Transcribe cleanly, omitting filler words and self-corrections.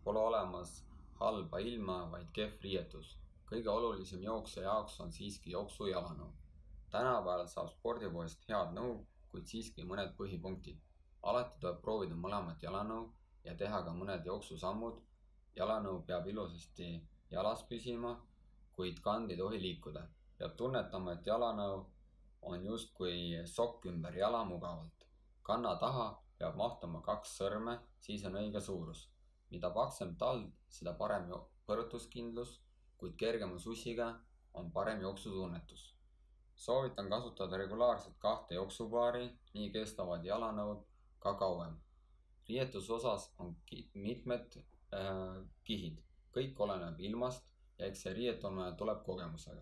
Pole olemas halba ilma, vaid kehv riietus. Kõige olulisem jooksja jaoks on siiski jooksu jalanõu. Tänapäeval saab spordipoest head nõu, kuid siiski mõned põhipunktid. Alati tuleb proovida mõlemat jalanõu ja teha ka mõned jooksusammud. Jalanõu peab ilusasti jalas püsima, kuid kand ei tohi liikuda. Peab tunnetama, et jalanõu on justkui sokk ümber jala mugavalt. Kanna taha peab mahtuma 2 sõrme, siis on õige suurus. Mida paksem tald, seda parem põrutuskindlus, kuid kergema sussiga on parem jooksutunnetus. Soovitan kasutada regulaarselt 2 jooksupaari, nii kestavad jalanõud ka kauem. Riietusosas on mitmed kihid. Kõik oleneb ilmast ja eks see riietumine tuleb kogemusega.